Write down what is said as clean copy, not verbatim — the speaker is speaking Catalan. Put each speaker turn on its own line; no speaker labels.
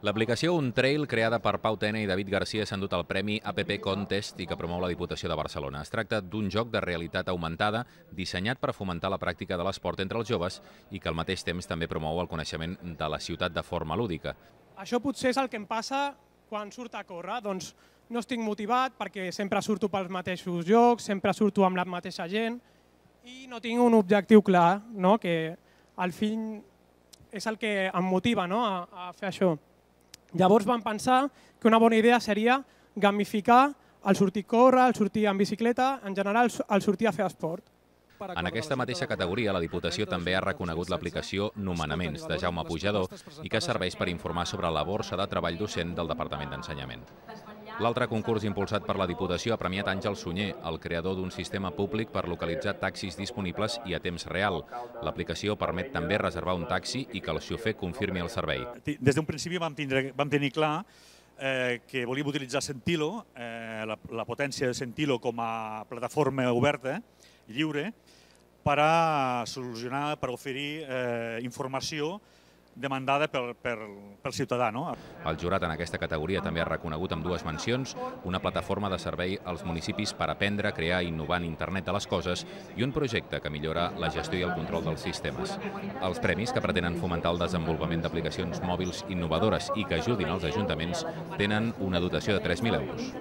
L'aplicació Un Trail, creada per Pau Tena i David Garcia, s'ha endut el premi APP Contest i que promou la Diputació de Barcelona. Es tracta d'un joc de realitat augmentada dissenyat per fomentar la pràctica de l'esport entre els joves i que al mateix temps també promou el coneixement de la ciutat de forma lúdica.
Això potser és el que em passa quan surto a córrer. Doncs no estic motivat perquè sempre surto pels mateixos llocs, sempre surto amb la mateixa gent i no tinc un objectiu clar, que al fin és el que em motiva a fer això. Llavors vam pensar que una bona idea seria gamificar el sortir a córrer, el sortir en bicicleta, en general el sortir a fer esport.
En aquesta mateixa categoria, la Diputació també ha reconegut l'aplicació Nomenaments, de Jaume Pujador, i que serveix per informar sobre la borsa de treball docent del Departament d'Ensenyament. L'altre concurs impulsat per la Diputació ha premiat Àngel Sunyer, el creador d'un sistema públic per localitzar taxis disponibles i a temps real. L'aplicació permet també reservar un taxi i que el xofer confirmi el servei.
Des d'un principi vam tenir clar que volíem utilitzar Sentilo, la potència de Sentilo com a plataforma oberta, lliure, per a solucionar, per oferir informació demandada pel ciutadà.
El jurat en aquesta categoria també ha reconegut amb dues mencions una plataforma de servei als municipis per aprendre, crear i innovar en internet de les coses i un projecte que millora la gestió i el control dels sistemes. Els premis, que pretenen fomentar el desenvolupament d'aplicacions mòbils innovadores i que ajudin als ajuntaments, tenen una dotació de 3.000 euros.